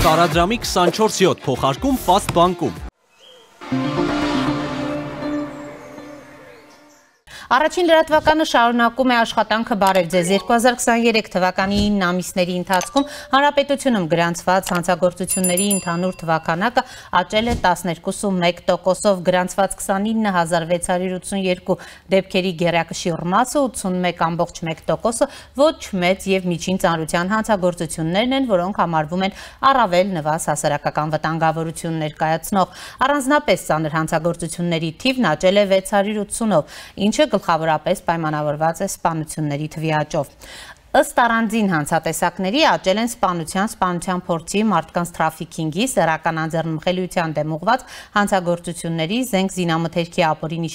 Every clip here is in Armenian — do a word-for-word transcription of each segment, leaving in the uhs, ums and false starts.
Տարադրամի քսանչորս յոթ փոխարկում Fast բանկում։ Առաջին լրատվականը շարունակում է աշխատանքը բարև ձեզ։ երկու հազար քսաներեք թվականի ինը ամիսների ընթացքում հանրապետությունում գրանցված հանցագործությունների ընդհանուր թվականակը աճել է տասներկու կόμμα մեկ տոկոսով, գրանցված քսանինը հազար վեց հարյուր ութսունյերկու դեպքերի գերակշիռ մասը ութսունմեկ կόμma մեկ տոկոսը ոչ մեծ եւ միջին ծանրության հանցագործություններն են, որոնք համարվում են առավել նվազ հասարակական վտանգավորություն ներկայացնող։ Առանձնապես ծանր հանցագործությունների թիվն աճել է վեց հարյուր ութսունով, ինչը գլխավորապես պայմանավորված է սպանությունների թվի աճով։ Ըստ առանձին հանցատեսակների աճել են սպանության, սպանության փորձի, մարդկանց թրաֆիքինգի, սեռական անձեռնմխելիության դեմ ուղղված հանցագործությունների, զենք զինամթերքի ապօրինի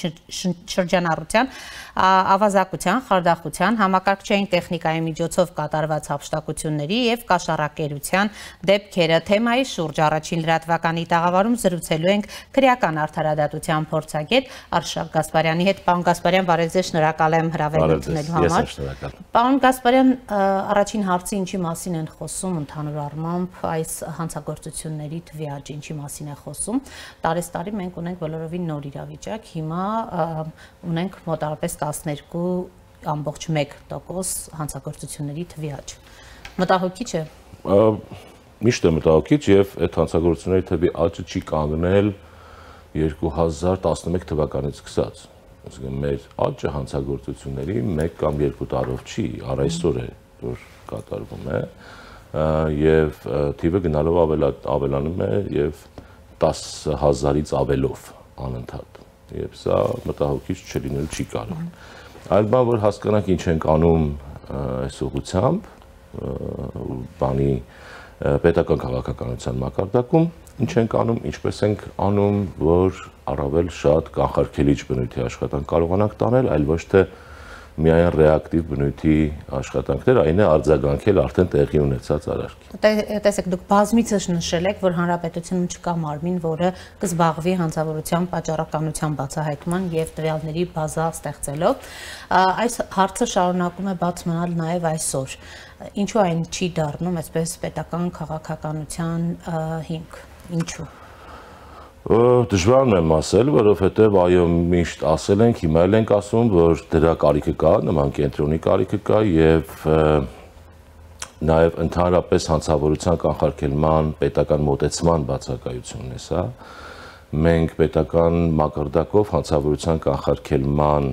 շրջանառության, ավազակության, խարդախության, համակարգչային տեխնիկայի միջոցով կատարված հափշտակությունների եւ կաշառակերության դեպքերը։ Թեմայի շուրջ առաջին լրատվականի տաղավարում զրուցելու ենք քրեական արդարադատության փորձագետ Արշակ Գասպարյանի հետ։ Պարոն Գասպարյան, բարև ձեզ, շնորհակալ եմ հրավեր ընդունելու համար։ Պարոն Գասպարյան, առաջին հարցը ինչի մասին են խոսում ընդհանուր առմամբ այս հանցագործությունների թվի աճի ինչի մասին է խոսում։ Տարեստարի մենք ունենք բոլորովին նոր իրավիճակ, հիմա ունենք մոտավորապես տասներկու կόμμα մեկ տոկոս հանցագործությունների թվի աճ։ Մտահոգիչ է։ Միշտ է մտահոգիչ եւ այդ հանցագործությունների թվի աճը չի կանգնել երկու հազար տասնմեկ թվականից սկսած։ Այսինքն մեր աճը հանցագործությունների մեկ կամ երկու տարով չի, առ այսօր է որ կատարվում է եւ թիվը գնալով ավելանում է եւ տասը հազարից ավելով անընդհատ եւ սա մտահոգիչ չլինել չի կարող։ Այլ բան որ հասկանանք ինչ ենք անում այս ուղղությամբ բանի պետական քաղաքականության մակարդակում ինչ ենք անում, ինչպես ենք անում, որ առավել շատ կանխարգելիչ բնույթի աշխատանք կարողանանք տանել, այլ ոչ թե միայն ռեակտիվ բնույթի աշխատանքներ, այն է արձագանքել արդեն տեղի ունեցած արարքի։ Տեսեք, դուք բազմիցս նշել եք, որ հանրապետությունում չկա մարմին, որը կզբաղվի հանցավորության պատճառականության բացահայտման եւ տվյալների բազա ստեղծելով։ Այս հարցը շարունակում է բաց մնալ նաեւ այսօր։ Ինչու այն չի դառնում այսպես պետական քաղաքականության հիմք։ Ինչու։ Դժվարն եմ ասել, որովհետև այո միշտ ասել ենք, հիմա էլ ենք ասում, որ դրա կարիքը կա, նման կենտրոնի կարիքը կա եւ նաեւ ընդհանրապես հանցավորության կանխարգելման պետական մոտեցման բացակայությունն է սա։ Մենք պետական մակարդակով հանցավորության կանխարգելման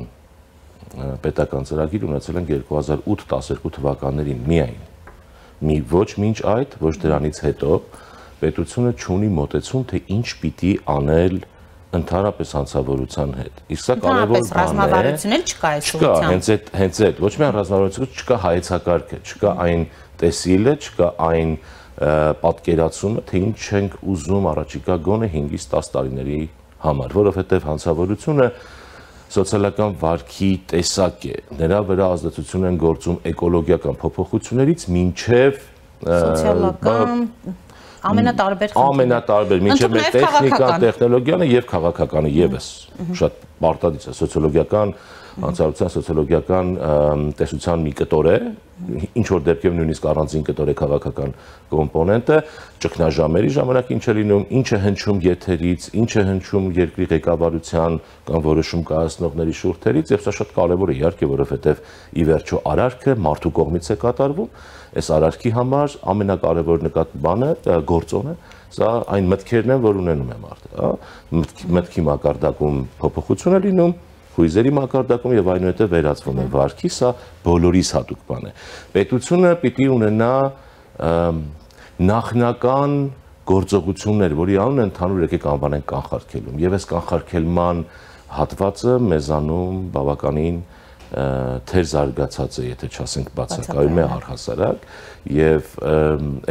պետական ծրագիր ունեցել ենք երկու հազար ութ տասներկու թվականներին միայն։ Մի ոչ մինչ այդ, ոչ դրանից հետո պետությունը չունի մոտեցում, թե ինչ պիտի անել ընդհանրապես հանցավորության հետ։ Իսկ սա կարևոր բան է։ Ռազմավարություն էլ չկա այս ուղղությամբ։ Չկա, հենց այդ, հենց այդ, ոչ միայն ռազմավարություն, չկա հայեցակարգը, չկա այն տեսիլը, չկա այն պատկերացումը, թե ինչ ենք ուզում առաջիկա գոնե հինգից տաս տարիների համար, որովհետև հանցավորությունը սոցիալական վարքի տեսակ է։ Նրա վրա ազդեցություն են գործում էկոլոգիական փոփոխություններից մինչև սոցիալական ամենատարբեր ամենատարբեր մինչև մեր տեխնիկան, տեխնոլոգիան եւ քաղաքականը եւս շատ պարտադիր է սոցիոլոգիական հանցավորության սոցիոլոգիական տեսության մի կտոր է, ինչ որ դեպքերում նույնիսկ առանձին կտոր է քաղաքական կոմպոնենտը, ճգնաժամերի ժամանակ ինչ է լինում, ինչ է հնչում եթերից, ինչ է հնչում երկրի ղեկավարության կամ որոշում կայացնողների շուրթերից, եւ սա շատ կարեւոր է իհարկե, որովհետեւ ի վերջո արարքը մարդու կողմից է կատարվում, այս արարքի համար ամենակարևոր նկատ բանը գործոնը սա այն մտքերն են, որ ունենում է մարդը, հա, մտքի մակարդակում փոփոխություն է լինում, հույզերի մակարդակում եւ այնուհետեւ վերածվում է վարքի, սա բոլորիս հատուկ բան է։ Պետությունը պիտի ունենա նախնական գործողություններ, որի անունը ընդհանուր եկեք անվանենք կանխարգելում, եւ այս կանխարգելման հատվածը մեզանում բավականին թեր զարգացած է, եթե չասենք բացակայում է առհասարակ, եւ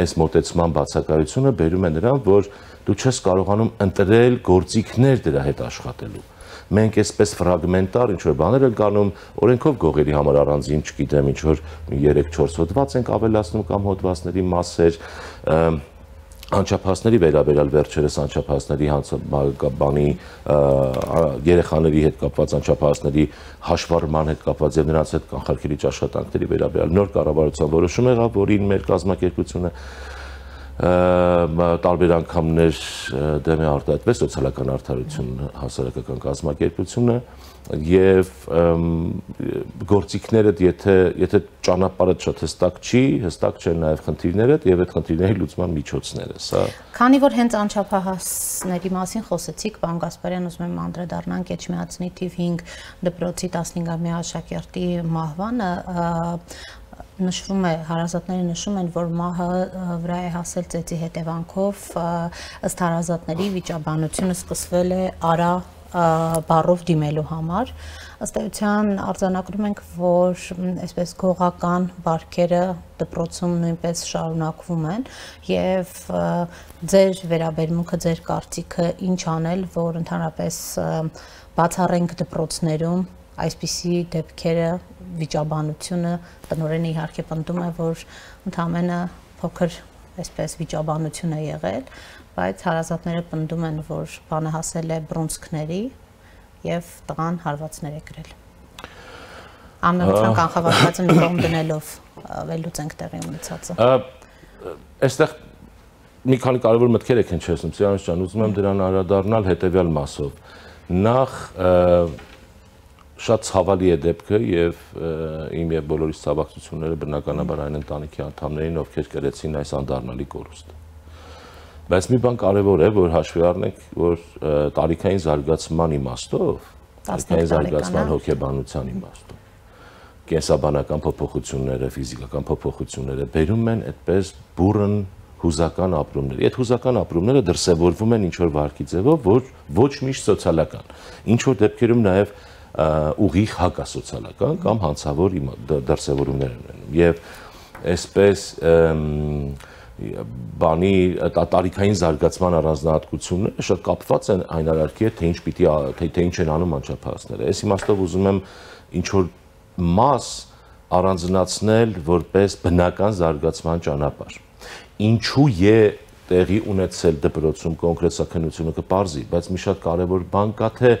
այս մոտեցման բացակայությունը բերում է նրան, որ դու չես կարողանում ընտրել գործիքներ դրա հետ աշխատելու։ Մենք այսպես ֆրագմենտար ինչ որ բաներ ենք անում, օրենքով գողերի համար առանձին, չգիտեմ, ինչ որ երեք չորս հոդված ենք ավելացնում կամ հոդվածների մասեր, անչափահասների վերաբերյալ վերջերս անչափահասների բանի երեխաների հետ կապված անչափահասների հաշվառման հետ կապված եւ նրանց հետ կանխարգելիչ աշխատանքների վերաբերյալ նոր կառավարության որոշում եղավ, որին մեր կազմակերպությունը տարբեր անգամներ դեմ է արտահայտվել սոցիալական արդարություն հասարակական կազմակերպությունը եւ գործիքները եթե եթե ճանապարհը շատ հստակ չի, հստակ չեն նաեւ խնդիրները եւ այդ խնդիրների լուծման միջոցները, սա Քանի որ հենց անչափահասների մասին խոսեցիք, պարոն Գասպարյան, ուզում եմ անդրադառնանք Էջմիածնի թիվ հինգ դպրոցի տասնհինգամյա աշակերտի մահվանը, նշվում է, հարազատները նշում են, որ մահը վրա է հասել ծեծի հետևանքով, ըստ հարազատների վիճաբանությունը սկսվել է արա բառով դիմելու համար, ըստ էության արձանագրում ենք, որ այսպես գողական բարքերը դպրոցում նույնպես շարունակվում են եւ ձեր վերաբերմունքը, ձեր կարծիքը ինչ անել, որ ընդհանրապես բացառենք դպրոցներում այսպիսի դեպքերը վիճաբանությունը տնօրենը իհարկե պնդում է, որ ընդամենը փոքր այսպես վիճաբանություն է եղել, բայց հարազատները պնդում են, որ բանը հասել է բռունցքների եւ տղան հարվածներ է կրել։ Ամենության կանխավարկածը մի կողմ դնելով վերլուծենք տեղի ունեցածը։ Այստեղ մի քանի կարևոր մտքեր եք հնչեցնում, Սիրանոս ջան, ուզում եմ դրան անդրադառնալ հետեւյալ մասով։ Նախ շատ ցավալի է դեպքը եւ իմ եւ բոլորիս ցավակցությունները բնականաբար այն ընտանիքի անդամներին, ովքեր կրեցին այս անդառնալի կորուստը։ Բայց մի բան կարևոր է, որ հաշվի առնենք, որ տարիքային զարգացման իմաստով, տարիքային զարգացման հոգեբանության իմաստով, կենսաբանական փոփոխությունները, ֆիզիկական փոփոխությունները բերում են այդպես բուրըն հուզական ապրումներ։ Այդ հուզական ապրումները դրսևորվում են ինչ որ վարքի ձևով, որ ոչ միշտ սոցիալական։ Ինչ որ դեպքերում նաեւ ուղիղ հակասոցիալական կամ հանցավոր դրսևորումներ են եւ այսպես բանի տարիքային զարգացման առանձնահատկությունները շատ կապված են այն արարքի հետ, թե ինչ պիտի թե ինչ են անում անչափահասները։ Այս իմաստով ուզում եմ ինչ որ մաս առանձնացնել որպես բնական զարգացման ճանապարհ։ Ինչու է տեղի ունեցել դպրոցում կոնկրետ սա քննությունը կպարզի, բայց մի շատ կարևոր բան կա, թե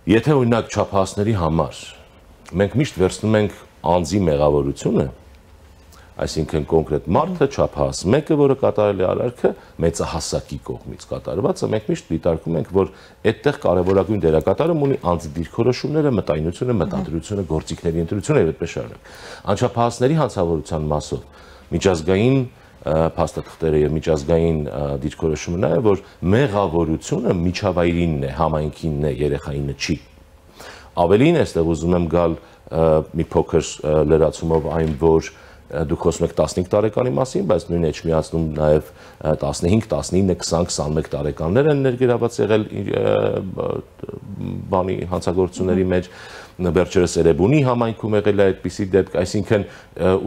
Եթե օրինակ չափահասների համար մենք միշտ վերցնում ենք անձի մեղավորությունը, այսինքն կոնկրետ մարդը չափահաս մեկը, որը կատարել է արարքը, մեծահասակի կողմից կատարվածը, մենք միշտ դիտարկում ենք, որ այդտեղ կարևորագույն դերակատարում ունի անձի դիրքորոշումները, մտայնությունը, մտադրությունը, գործիքների ընտրությունը եւ այդպես շարունակ։ Անչափահասների հանցավորության մասով միջազգային փաստաթղթերը եւ միջազգային դիրքորոշումը նա է, որ մեղավորությունը միջավայրինն է, համայնքինն է, երեխայինը չի։ Ավելին այստեղ ուզում եմ գալ մի փոքր լրացումով այն, որ դուք խոսում եք տասնհինգ տարեկանի մասին, բայց նույն Էջմիածնում նաև տասնհինգ, տասնինը, քսան, քսանմեկ տարեկաններ են ներգրաված եղել բանի հանցագործությունների մեջ, վերջերս Էրեբունի համայնքում եղել է այդպիսի դեպք, այսինքն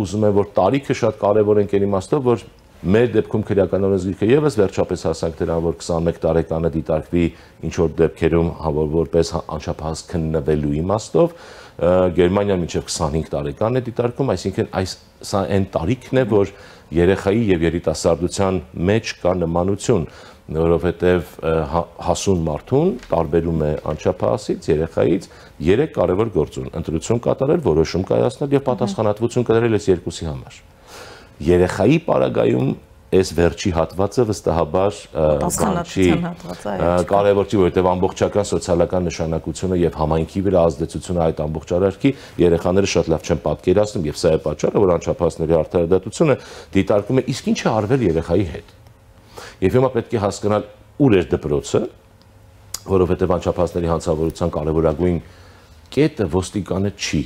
ուզում եմ, որ տարիքը շատ կարևոր ենք այն իմաստով, որ մեր դեպքում քրեական օրենսգիրքը եւս վերջապես հասանք դրան, որ քսանմեկ տարեկանը դիտարկվի ինչ որ դեպքերում որպես անչափահաս քննվելու իմաստով, Գերմանիան մինչև քսանհինգ տարեկան է դիտարկում, այսինքն այս սա այն տարիքն է, որ երեխայի եւ երիտասարդության մեջ կա նմանություն, որովհետեւ հասուն մարդուն տարբերում է անչափահասից, երեխայից երեք կարևոր գործոն՝ ընտրություն կատարել, որոշում կայացնել եւ պատասխանատվություն կատարել այս երկուսի համար։ Երեխայի պարագայում այս վերջի հատվածը վստահաբար չի կարևոր չի, որովհետև ամբողջական սոցիալական նշանակությունը եւ համայնքի վրա ազդեցությունը այդ ամբողջ արարքի երեխաները շատ լավ չեն պատկերացնում եւ սա է պատճառը, որ անչափահասների արդարադատությունը դիտարկում է իսկ ինչ է արվել երեխայի հետ։ Եվ հիմա պետք է հասկանալ ուր է դպրոցը, որովհետև անչափահասների հանցավորության կարևորագույն կետը ոստիկանը չի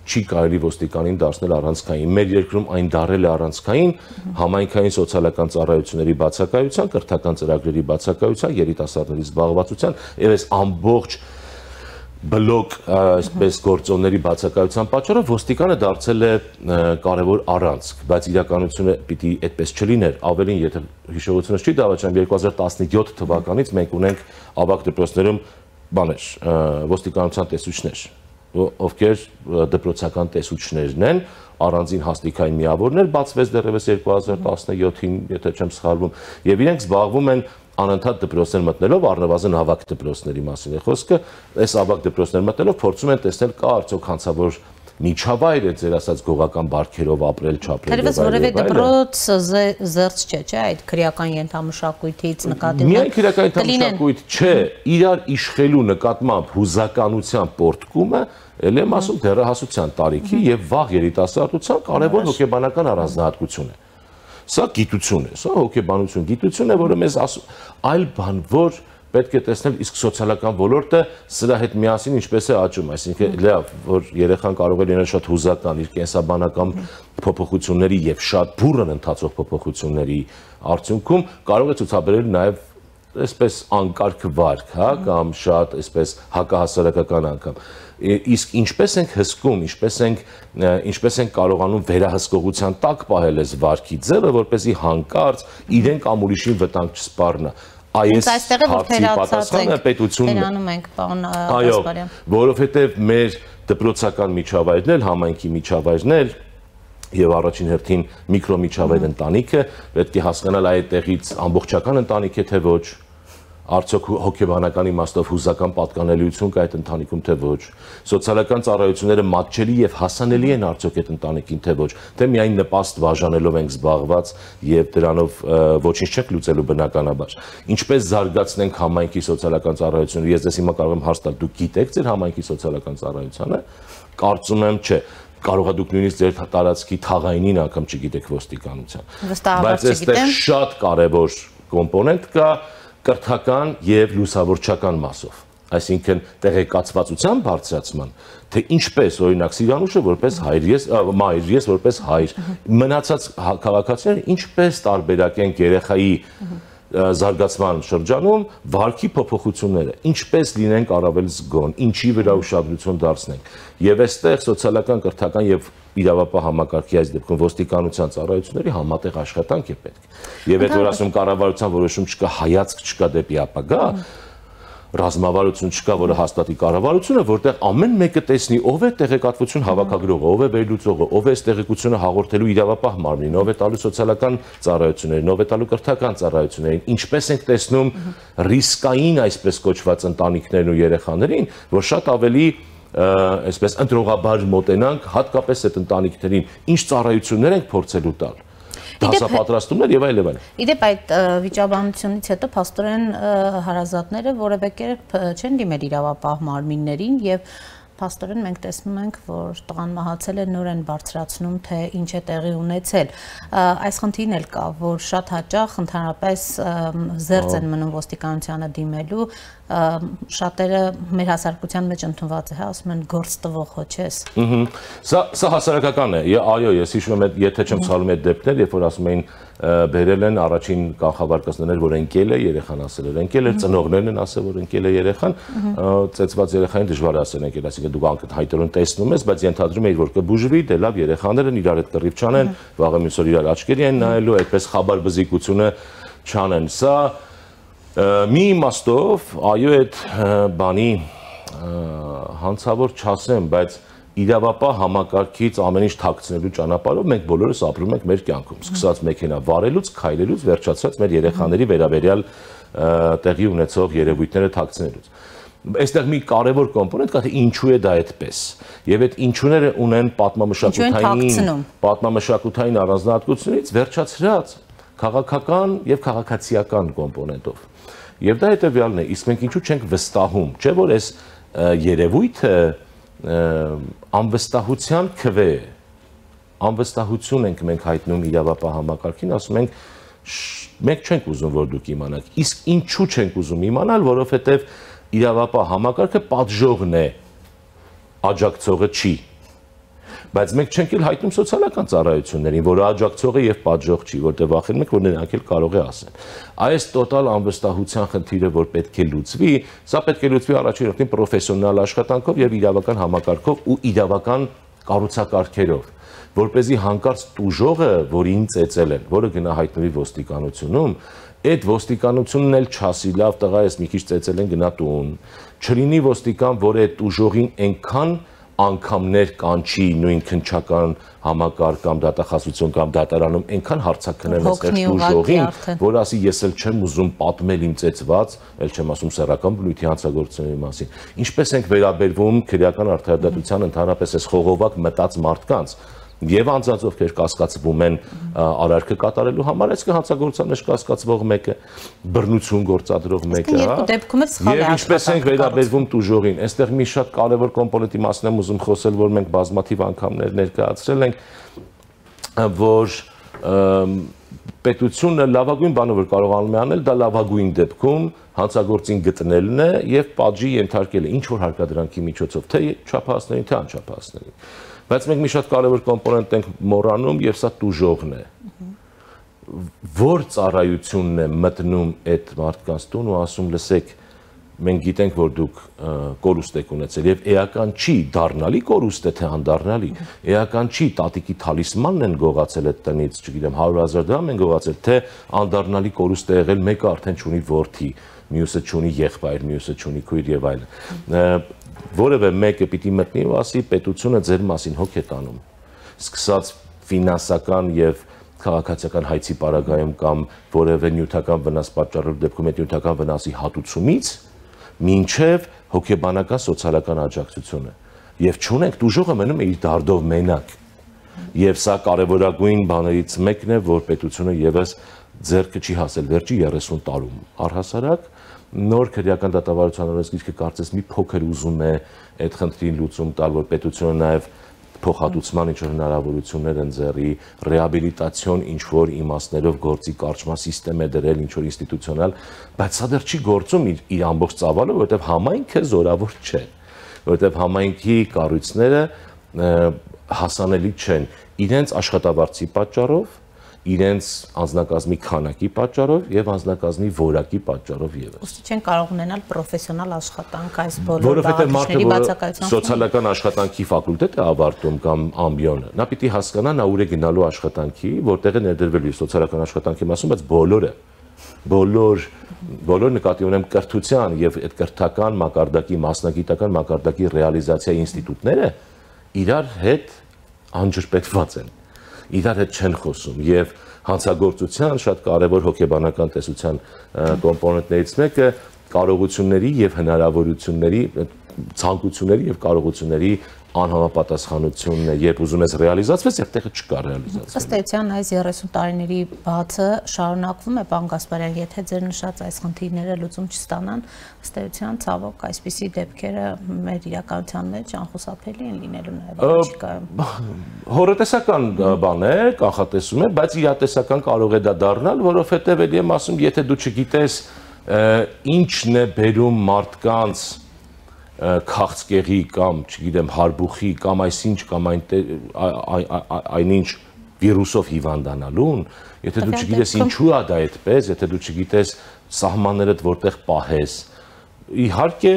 չի կարելի ոստիկանին դարձնել առանցքային։ Մեր երկրում այն դարել է առանցքային համայնքային սոցիալական ծառայությունների բացակայության, կրթական ծրագրերի բացակայության, երիտասարդների զբաղվածության եւ այս ամբողջ բլոկ այսպես գործոնների բացակայության պատճառով ոստիկանը դարձել է կարևոր առանցք, բայց իրականությունը պիտի այդպես չլիներ։ Ավելին, եթե հիշողությունս չի դավաճանում, երկու հազար տասնյոթ թվականից մենք ունենք ավագ դպրոցներում բաներ, ոստիկանության տեսուչներ, ովքեր դպրոցական տեսուչներն են, առանձին հաստիկային միավորներ, բացվեց դեռևս երկու հազար տասնյոթին, եթե չեմ սխալվում, եւ իրենք զբաղվում են անընդհատ դպրոցներ մտնելով, առնվազն ավագ դպրոցների մասին է խոսքը, այս ավագ դպրոցներ մտնելով փորձում են տեսնել կա արդյոք հանցավոր միջավայր է, ձեր ասած գողական բարքերով ապրել, չապրել։ Թերևս որևէ դպրոց զերծ չէ, չէ, այդ քրեական ենթամշակույթից նկատի ունենք։ Միայն քրեական ենթամշակույթ չէ, իրար իշխելու նկատմամբ հուզականության պորտկումը, ել եմ ասում դեռահասության տարիքի եւ վաղ երիտասարդության կարևոր հոգեբանական առանձնահատկություն է։ Սա գիտություն է, սա հոգեբանություն, գիտություն է, որը մեզ ասում այլ բան, որ պետք է տեսնել իսկ սոցիալական ոլորտը սրա հետ միասին ինչպես է աճում, այսինքն լավ, որ երեխան կարող է լինել շատ հուզական իր կենսաբանական փոփոխությունների եւ շատ բուրըն ընթացող փոփոխությունների արդյունքում կարող է ցուցաբերել նաեւ այսպես անկարգ վարք, հա, կամ շատ այսպես հակահասարակական անգամ։ Իսկ ինչպես ենք հսկում, ինչպես ենք ինչպես ենք կարողանում վերահսկողության տակ պահել այս վարքի ձևը, որպեսզի հանկարծ իրեն կամ ուրիշին վտանգ չսպառնա։ Այս հարցի պատասխանը պետությունն է։ Այո, որովհետև մեր դպրոցական միջավայրն էլ, համայնքի միջավայրն էլ եւ առաջին հերթին միկրոմիջավայր ընտանիքը պետք է հասկանալ այդտեղից ամբողջական ընտանիք է թե ոչ, արդյոք հոգեբանական իմաստով հուզական պատկանելիություն կա այդ ընտանիքում թե ոչ, սոցիալական ծառայությունները մատչելի եւ հասանելի են արդյոք այդ ընտանիքին թե ոչ, թե միայն նպաստ բաժանելով ենք զբաղված եւ դրանով ոչինչ չենք լուծելու բնականաբար։ Ինչպես զարգացնենք համայնքի սոցիալական ծառայությունը, ես դες հիմա կարող եմ հարց տալ, դուք գիտեք ձեր համայնքի սոցիալական ծառայությանը, կարծում եմ չէ, կարող է դուք նույնիսկ ձեր տարածքի թաղայինին անգամ չգիտեք ոստիկանության։ Բայց այստեղ շատ կարևոր կոմպոնենտ կա կրթական եւ լուսավորչական մասով, այսինքն տեղեկացվածության բարձրացման, թե ինչպես օրինակ Սիրանուշը որպես հայր, ես մայր, ես որպես հայր, մնացած քաղաքացիները ինչպես տարբերակեն երեխայի զարգացման շրջանում վարքի փոփոխությունները, ինչպես լինենք առավել զգոն, ինչի վրա ուշադրություն դարձնենք։ Եվ այստեղ սոցիալական, կրթական եւ իրավապահ համակարգի այս դեպքում ոստիկանության ծառայությունների համատեղ աշխատանք է պետք։ Եվ այդ որ ասում կառավարության որոշում չկա, հայացք չկա դեպի ապագա, ռազմավարություն չկա, որը հաստատի կառավարությունը, որտեղ ամեն մեկը տեսնի ով է տեղեկատվություն հավաքագրողը, ով է վերլուծողը, ով է այս տեղեկությունը հաղորդելու իրավապահ մարմնին, ով է տալու սոցիալական ծառայություններին, ով է տալու կրթական ծառայություններին, ինչպես ենք տեսնում ռիսկային այսպես կոչված ընտանիքներն ու երեխաներին, որ շատ ավելի այսպես ընտրողաբար մոտենանք հատկապես այդ ընտանիքներին, ինչ ծառայություններ ենք փորձելու տալ։ Դասապատրաստումներ եւ այլ եւ այլ։ Իդեպ այդ վիճաբանությունից հետո փաստորեն հարազատները որևէ կերպ չեն դիմել իրավապահ մարմիններին եւ փաստորեն մենք տեսնում ենք, որ տղան մահացել է, նոր են բարձրացնում, թե ինչ է տեղի ունեցել։ Այս խնդիրն էլ կա, որ շատ հաճախ ընդհանրապես զերծ են մնում ոստիկանությանը դիմելու, շատերը մեր հասարակության մեջ ընդունված է, հա, ասում են գործ տվող հո չես։ Սա սա հասարակական է։ Այո, ես հիշում եմ, եթե չեմ սխալվում այդ դեպքեր, երբ որ ասում էին բերել են առաջին կանխավարկածներ, որ ընկել է, երեխան ասել էր ընկել էր, ծնողներն են ասել, որ ընկել է երեխան, ծեծված երեխային դժվար է ասել ընկել, այսինքն դուք անհայտորեն տեսնում ես, բայց ենթադրում եք, որ կբուժվի, դե լավ, երեխաներն իրար հետ կռիվ չանեն, վաղը մյուս օր իրար աչքերի են նայելու, այդպես խաբար բզիկությունը չանեն։ Սա մի իմաստով, այո, այդ բանի հանցավոր չասեմ, բայց իրավապահ համակարգից ամեն ինչ թաքցնելու ճանապարհով մենք բոլորս ապրում ենք մեր կյանքում, սկսած մեքենա վարելուց, քայլելուց, վերջացած մեր երեխաների վերաբերյալ տեղի ունեցող երևույթները թաքցնելուց։ Այստեղ մի կարևոր կոմպոնենտ կա, թե ինչու է դա այդպես։ Եվ այդ ինչուները ունեն պատմամշակութային պատմամշակութային առանձնահատկությունից վերջացրած քաղաքական եւ քաղաքացիական կոմպոնենտով։ Եվ դա հետեւյալն է, իսկ մենք ինչու չենք վստահում, չէ՞ որ այս երևույթը անվստահության քվե է, անվստահություն ենք մենք հայտնում իրավապահ համակարգին, ասում ենք մենք չենք ուզում, որ դուք իմանաք, իսկ ինչու չենք ուզում իմանալ, որովհետև իրավապահ համակարգը պատժողն է, աջակցողը չի, բայց մենք չենք էլ հայտնում սոցիալական ծառայություններին, որը աջակցող է եւ պատժող չի, որտեղ վախենում ենք, որ նրանք էլ կարող է ասեն։ Այս տոտալ անվստահության խնդիրը, որ պետք է լուծվի, սա պետք է լուծվի առաջին հերթին պրոֆեսիոնալ աշխատանքով եւ իրավական համակարգով ու իրավական կառուցակարգերով, որպեսզի հանկարծ տուժողը, որին ծեծել են, որը գնահայտնվի ոստիկանությունում, այդ ոստիկանությունն էլ չասի լավ տղա, ես մի քիչ ծեծել են գնա տուն, չլինի ոստիկան, որ այդ տուժողին այնքան անգամներ կանչի նույն քննչական համակարգ կամ դատախազություն կամ դատարանում այնքան հարցակնեն այստեղ ուժողին, որ ասի ես էլ չեմ ուզում պատմել իմ ծեծված, էլ չեմ ասում սեռական բնույթի հանցագործությունների մասին։ Ինչպես ենք վերաբերվում քրեական արդարադատության ընդհանրապես այս խողովակ մտած մարդկանց եւ անձանց ովքեր կասկածվում են արարքը կատարելու համար, այսինքն հանցագործության մեջ կասկածվող մեկը, բռնություն գործադրող մեկը, հա։ Եվ ինչպես ենք վերաբերվում տուժողին, այստեղ մի շատ կարևոր կոմպոնենտի մասին եմ ուզում խոսել, որ մենք բազմաթիվ անգամներ ներկայացրել ենք, որ պետությունը լավագույն բանը որ կարողանում է անել, դա լավագույն դեպքում հանցագործին գտնելն է եւ պատժի ենթարկելը ինչ որ հարկադրանքի միջոցով, թե չափահասներին, թե անչափահասներին։ Բայց մենք մի շատ կարևոր կոմպոնենտ ենք մոռանում եւ սա տուժողն է։ Որ ծառայությունն է մտնում այդ մարդկանց տուն ու ասում լսեք, մենք գիտենք որ դուք կորուստ եք ունեցել եւ էական չի դառնալի կորուստ է թե անդառնալի, էական չի տատիկի թալիսմանն են գողացել այդ տնից, չգիտեմ հարյուր հազար դրամ են գողացել, թե անդառնալի կորուստ է եղել մեկը արդեն չունի որդի, մյուսը չունի եղբայր, մյուսը չունի քույր եւ այլն։ Որևէ մեկը պիտի մտնի ու ասի պետությունը ձեր մասին հոգ է տանում, սկսած ֆինանսական եւ քաղաքացիական հայցի պարագայում կամ որևէ նյութական վնաս պատճառելու դեպքում այդ նյութական վնասի հատուցումից մինչև հոգեբանական սոցիալական աջակցությունը եւ չունենք դուժողը մնում է իր դարդով մենակ եւ սա կարեւորագույն բաներից մեկն է որ պետությունը եւս ձեռքը չի հասել վերջի երեսուն տարում առհասարակ նոր քրեական դատավարության օրենսգիրքը կարծես մի փոքր ուզում է այդ խնդրին լուծում տալ որ պետությունը նաեւ փոխհատուցման ինչ որ հնարավորություններ են ձեռի ռեաբիլիտացիոն ինչ որ իմաստներով գործի կարճման համակարգ է դրել ինչ որ ինստիտուցիոնալ բայց սա դեռ չի գործում իր, իր ամբողջ ծավալը որովհետեւ համայնքը զորավոր չէ որովհետեւ համայնքի կառույցները հասանելի չեն իրենց աշխատավարձի պատճառով իրենց անձնակազմի քանակի պատճառով եւ անձնակազմի որակի պատճառով եւս։ Ոստի չեն կարող ունենալ պրոֆեսիոնալ աշխատանք այս բոլոր բաղադրիչների բացակայության։ Սոցիալական աշխատանքի ֆակուլտետ է ավարտում կամ ամբիոնը։ Նա պիտի հասկանա նա ուր է գնալու աշխատանքի, որտեղ է ներդրվելու սոցիալական աշխատանքի մասում, բայց բոլորը բոլոր բոլոր նկատի ունեմ կրթության եւ այդ կրթական մակարդակի մասնագիտական մակարդակի ռեալիզացիայի ինստիտուտները իրար հետ անջրպետված են։ Իրար հետ չեն խոսում եւ հանցագործության շատ կարեւոր հոգեբանական տեսության կոմպոնենտներից մեկը կարողությունների եւ հնարավորությունների ցանկությունների եւ կարողությունների անհամապատասխանությունն է, երբ ուզում ես ռեալիզացվես, եւ տեղը չկա ռեալիզացվել։ Ըստ էության այս երեսուն տարիների բացը շարունակվում է, պարոն Գասպարյան, եթե ձեր նշած այս խնդիրները լուծում չստանան, ըստ էության ցավոք այսպիսի դեպքերը մեր իրականության մեջ անխուսափելի են լինելու նաեւ առաջիկայում։ Հորետեսական բան է, կանխատեսում է, բայց իրատեսական կարող է դա դառնալ, որովհետեւ ելի եմ ասում, եթե դու չգիտես ինչն է բերում մարդկանց քաղցկեղի կամ, չգիտեմ, հարբուխի կամ այսինչ կամ այնինչ վիրուսով հիվանդանալուն, եթե դու չգիտես ինչու է դա այդպես, եթե դու չգիտես սահմաններդ որտեղ պահես, իհարկե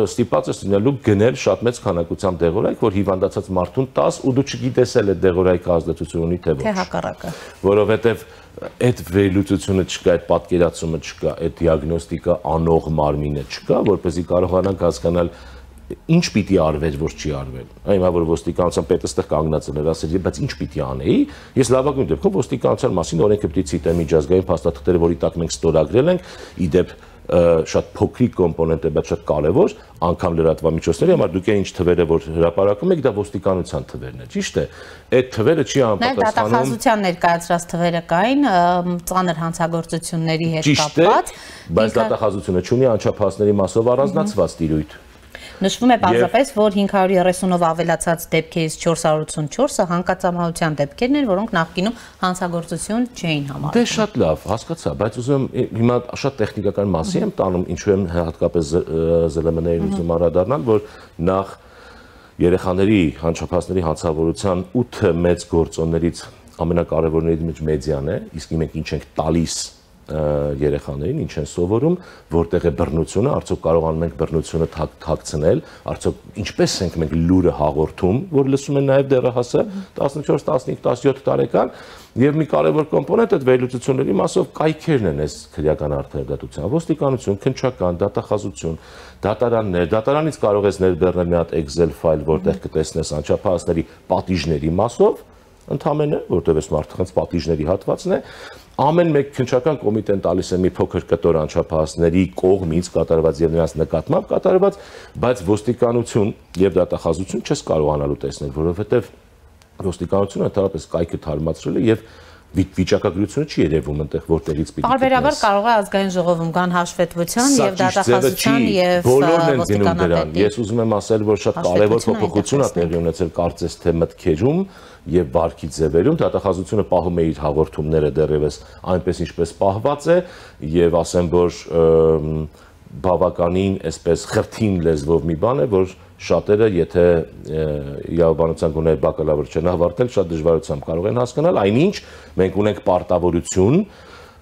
ստիպված ես լինելու գնել շատ մեծ քանակությամբ դեղորայք, որ հիվանդացած մարդուն տաս ու դու չգիտես էլ այդ դեղորայքը ազդեցություն ունի թե ոչ։ Թե հակառակը։ Որովհետև այդ վերլուծությունը չկա, այդ պատկերացումը չկա, այդ դիագնոստիկա անող մարմինը չկա, որպեսզի կարողանանք հասկանալ ինչ պիտի արվեր, որ չի արվել։ Հիմա որ ոստիկանության պետը ստեղ կանգնած էր, ասել, բայց ինչ պիտի անեի։ Ես լավագույն դեպքում ոստիկանության մասին օրենքը պիտի ցիտեմ միջազգային փաստաթղթերը, որի տակ մենք ստորագրել ենք, ի դեպ շատ փոքրիկ կոմպոնենտ է, բայց շատ կարևոր, անգամ լրատվամիջոցների համար դուք այն ինչ թվերը որ հրապարակում եք, դա ոստիկանության թվերն է, ճիշտ է։ Այդ թվերը չի անպատասխանում։ Նաև դատախազության ներկայացրած թվերը կային ծանր հանցագործությունների հետ կապված, բայց դատախազությունը չունի անչափահասների մասով առանձնացված տիրույթ։ Նշվում է պարզապես, որ հինգ հարյուր երեսունով ավելացած դեպքերից չորս հարյուր ութսունչորսը հանկարծամահության դեպքերն են, որոնք նախկինում հանցագործություն չէին համարվում։ Դե շատ լավ, հասկացա, բայց ուզում եմ հիմա շատ տեխնիկական մասի եմ տանում, ինչու եմ հատկապես ԶԼՄ-ների ուզում անդրադառնալ, որ նախ երեխաների անչափահասների հանցավորության ութ մեծ գործոններից ամենակարևորներից մեջ մեդիան է, իսկ մենք ինչ ենք տալիս երեխաներին, ինչ են սովորում, որտեղ է բռնությունը, արդյոք կարողանում ենք բռնությունը թաքցնել, արդյոք ինչպես ենք մենք լուրը հաղորդում, որ լսում են նաև դեռահասը տասնչորս, տասնհինգ, տասնյոթ տարեկան, եւ մի կարևոր կոմպոնենտ այդ վերլուծությունների մասով կայքերն են այս քրեական արդարադատության, ոստիկանություն, քննչական, դատախազություն, դատարաններ, դատարանից կարող ես ներբեռնել մի հատ Excel ֆայլ, որտեղ կտեսնես անչափահասների պատիժների մասով, ընդհանրապես, որտեղ այս մարդկանց պատիժների հատվածն է, ամեն մեկ քննչական կոմիտեն տալիս է մի փոքր կտոր անչափահասների կողմից կատարված եւ նրանց նկատմամբ կատարված, բայց ոստիկանություն եւ դատախազություն չես կարողանալու տեսնել, որովհետեւ ոստիկանությունը ընդհանրապես կայքը թարմացրել է եւ վիճակագրությունը չի երևում այնտեղ որտեղից պիտի Պարբերաբար կարող է ազգային ժողովում կան հաշվետվության եւ դատախազության եւ ոստիկանատետի։ Ես ուզում եմ ասել, որ շատ կարևոր փոփոխություն է տեղի ունեցել կարծես թե մտքերում եւ վարքի ձևերում, դատախազությունը պահում է իր հաղորդումները դեռևս այնպես ինչպես պահված է եւ ասեմ, որ բավականին այսպես խրթին լեզվով մի բան է, որ շատերը, եթե իրավաբանության գուներ բակալավր չեն ավարտել, շատ դժվարությամբ կարող են հասկանալ, այնինչ մենք ունենք պարտավորություն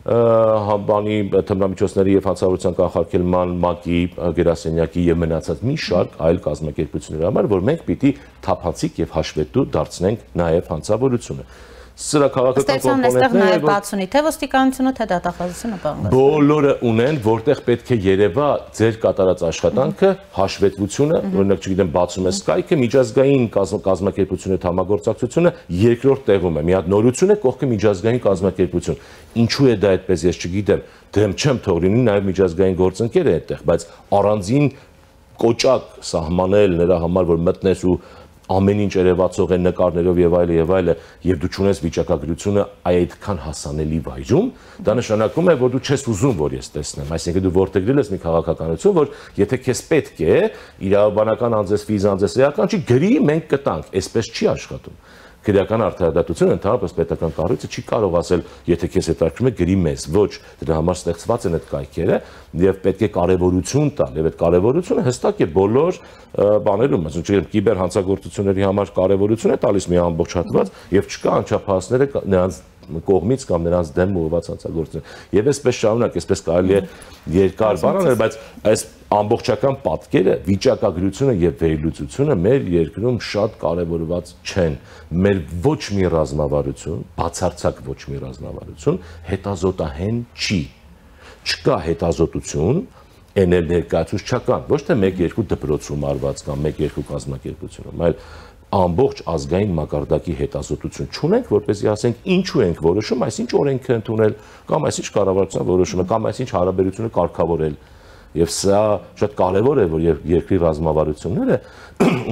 բանի թմրամիջոցների եւ հանցավորության կանխարգելման ՄԱԿ-ի գերասենյակի եւ մնացած մի շարք այլ կազմակերպությունների համար, որ մենք պիտի թափանցիկ եւ հաշվետու դարձնենք նաեւ հանցավորությունը։ Սրա քաղաքական կոմպոնենտները բացունի թե ոստիկանությունը թե դատախազությունը բանվի։ Բոլորը ունեն, որտեղ պետք է երևա ձեր կատարած աշխատանքը, հաշվետվությունը, օրինակ չգիտեմ, բացում ես կայքը, միջազգային կազմակերպությունների համագործակցությունը երկրորդ տեղում է։ Մի հատ նորություն է, կողքը միջազգային կազմակերպություն։ Ինչու է դա այդպես, ես չգիտեմ, դեմ չեմ թող լինի, նաև միջազգային գործընկեր է այդտեղ, բայց առանձին կոճակ սահմանել նրա համար, որ մտնես ու ամեն ինչ երևացող է նկարներով եւ այլը եւ այլը եւ դու ճունես վիճակագրությունը այդքան հասանելի վայրում, դա նշանակում է, որ դու չես ուզում, որ ես տեսնեմ, այսինքն դու որտեղ ես մի քաղաքականություն, որ եթե քեզ պետք է իրավաբանական անձես, ֆիզանձես էական չի գրի, մենք կտանք, այսպես չի աշխատում։ Քրեական արդարադատությունը ընդհանրապես պետական կառույցը չի կարող ասել, եթե քեզ հետաքրքրում է գրի մեզ, ոչ, դրա համար ստեղծված են այդ կայքերը եւ պետք է կարեւորություն տալ եւ այդ կարեւորությունը հստակ է բոլոր բաներում, ասենք չգիտեմ, կիբեր հանցագործությունների համար կարեւորություն է տալիս մի ամբողջ հատված եւ չկա անչափահասները նրանց կողմից կամ նրանց դեմ ուղղված հանցագործություն։ Եվ այսպես շարունակ, այսպես կարելի է երկար բանանել, բայց այս ամբողջական պատկերը, վիճակագրությունը եւ վերլուծությունը մեր երկրում շատ կարեւորված չեն։ Մեր ոչ մի ռազմավարություն, բացարձակ ոչ մի ռազմավարություն հետազոտահեն չի։ Չկա հետազոտություն, այն էլ ներկայացուցչական, ոչ թե մեկ-երկու դպրոցում արված կամ մեկ-երկու կազմակերպությունում, այլ ամբողջ ազգային մակարդակի հետազոտություն չունենք, որպեսզի ասենք ինչու ենք որոշում, այսինչ օրենք է ընդունել, կամ այսինչ կառավարության որոշումը, կամ այսինչ հարաբերությունը կարգավորել։ Եվ սա շատ կարևոր է, որ երկրի ռազմավարությունները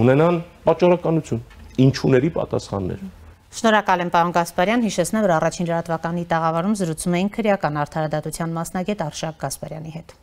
ունենան պատճառականություն, ինչուների պատասխաններ։ Շնորհակալ եմ, պարոն Գասպարյան, հիշեցնեմ, որ առաջին լրատվականի տաղավարում զրուցում էինք քրեական արդարադատության մասնագետ Արշակ Գասպարյանի հետ։